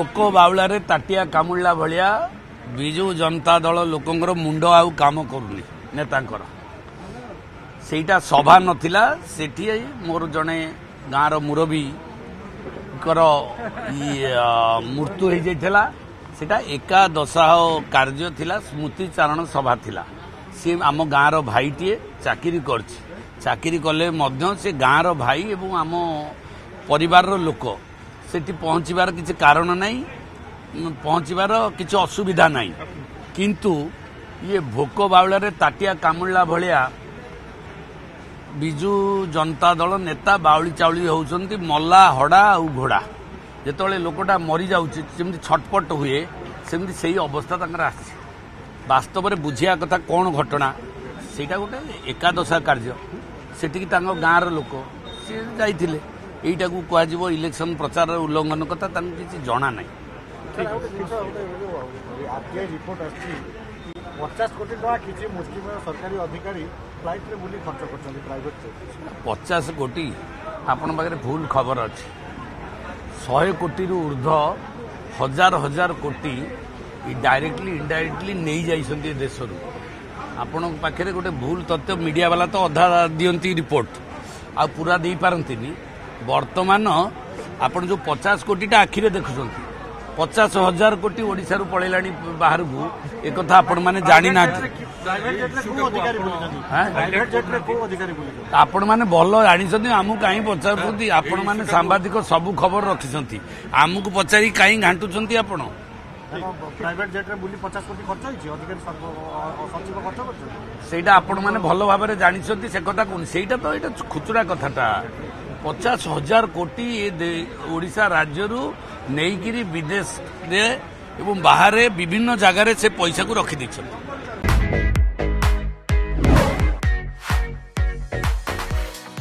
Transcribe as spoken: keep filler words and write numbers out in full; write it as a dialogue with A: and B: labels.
A: ଭୋକ ବାଉଳାରେ ତାଟିଆ କାମୁଡ଼ିଲା ଭଳିଆ ବିଜୁ ଜନତା ଦଳ ଲୋକଙ୍କର ମୁଣ୍ଡ ଆଉ କାମ କରୁନି ନେତାଙ୍କର। ସେଇଟା ସଭା ନଥିଲା, ସେଠି ମୋର ଜଣେ ଗାଁର ମୁରବୀଙ୍କର ମୃତ୍ୟୁ ହେଇଯାଇଥିଲା। ସେଇଟା ଏକାଦଶାହ କାର୍ଯ୍ୟ ଥିଲା, ସ୍ମୃତିଚାରଣ ସଭା ଥିଲା। ସିଏ ଆମ ଗାଁର ଭାଇଟିଏ, ଚାକିରି କରିଛି। ଚାକିରି କଲେ ମଧ୍ୟ ସେ ଗାଁର ଭାଇ ଏବଂ ଆମ ପରିବାରର ଲୋକ। ସେଠି ପହଞ୍ଚିବାର କିଛି କାରଣ ନାହିଁ, ପହଞ୍ଚିବାର କିଛି ଅସୁବିଧା ନାହିଁ। କିନ୍ତୁ ଇଏ ଭୋକ ବାଉଳାରେ ତାଟିଆ କାମୁଡ଼ିଲା ଭଳିଆ ବିଜୁ ଜନତା ଦଳ ନେତା ବାଉଳି ଚାଉଳି ହେଉଛନ୍ତି। ମଲା ହଡ଼ା ଆଉ ଘୋଡ଼ା, ଯେତେବେଳେ ଲୋକଟା ମରିଯାଉଛି ଯେମିତି ଛଟପଟ ହୁଏ, ସେମିତି ସେଇ ଅବସ୍ଥା ତାଙ୍କର ଆସିଛି। ବାସ୍ତବରେ ବୁଝିବା କଥା କ'ଣ ଘଟଣା, ସେଇଟା ଗୋଟେ ଏକାଦଶା କାର୍ଯ୍ୟ। ସେଠିକି ତାଙ୍କ ଗାଁର ଲୋକ ସିଏ ଯାଇଥିଲେ। ଏଇଟାକୁ କୁହାଯିବ ଇଲେକ୍ସନ ପ୍ରଚାରର ଉଲ୍ଲଂଘନ କଥା, ତାଙ୍କୁ କିଛି ଜଣା ନାହିଁ।
B: ରିପୋର୍ଟ ଆସିଛି ପଚାଶ କୋଟି ଟଙ୍କା କିଛି ମୁଷ୍ଟିମେୟ ସରକାରୀ ଅଧିକାରୀ ଫ୍ଲାଇଟ୍ରେ ବୁଲି ଖର୍ଚ୍ଚ କରିଛନ୍ତି ପ୍ରାଇଭେଟ୍।
A: ପଚାଶ କୋଟି ଆପଣଙ୍କ ପାଖରେ ଭୁଲ ଖବର ଅଛି। ଶହେ କୋଟିରୁ ଉର୍ଦ୍ଧ୍ୱ, ହଜାର ହଜାର କୋଟି ଡାଇରେକ୍ଟଲି ଇନଡାଇରେକ୍ଟଲି ନେଇଯାଇଛନ୍ତି ଏ ଦେଶରୁ। ଆପଣଙ୍କ ପାଖରେ ଗୋଟେ ଭୁଲ ତଥ୍ୟ। ମିଡ଼ିଆ ବାଲା ତ ଅଧା ଦିଅନ୍ତି ରିପୋର୍ଟ, ଆଉ ପୁରା ଦେଇପାରନ୍ତିନି। ବର୍ତ୍ତମାନ ଆପଣ ଯେଉଁ ପଚାଶ କୋଟିଟା ଆଖିରେ ଦେଖୁଛନ୍ତି, ପଚାଶ ହଜାର କୋଟି ଓଡ଼ିଶାରୁ ପଳେଇଲାଣି ବାହାରକୁ, ଏକଥା ଆପଣମାନେ ଜାଣିନାହାନ୍ତି। ଆପଣମାନେ ଭଲ ଜାଣିଛନ୍ତି, ଆମକୁ କାହିଁ ପଚାରୁଛନ୍ତି? ଆପଣମାନେ ସାମ୍ବାଦିକ ସବୁ ଖବର ରଖିଛନ୍ତି, ଆମକୁ ପଚାରି କାହିଁ ଘାଣ୍ଟୁଛନ୍ତି ଆପଣ?
B: ପ୍ରାଇଭେଟ ଜେଟ୍ରେ ବୁଲି ପଚାଶ କୋଟି ଖର୍ଚ୍ଚ ହେଇଛି, ଅଧିକାରୀ ସଚିବ ଖର୍ଚ୍ଚ କରିଛନ୍ତି,
A: ସେଇଟା ଆପଣମାନେ ଭଲ ଭାବରେ ଜାଣିଛନ୍ତି। ସେ କଥା କହୁନି, ସେଇଟା ତ ଏଇଟା ଖୁଚୁରା କଥାଟା। ପଚାଶ ହଜାର କୋଟି ଓଡ଼ିଶା ରାଜ୍ୟରୁ ନେଇକିରି ବିଦେଶରେ ଏବଂ ବାହାରେ ବିଭିନ୍ନ ଜାଗାରେ ସେ ପଇସାକୁ ରଖିଦେଇଛନ୍ତି।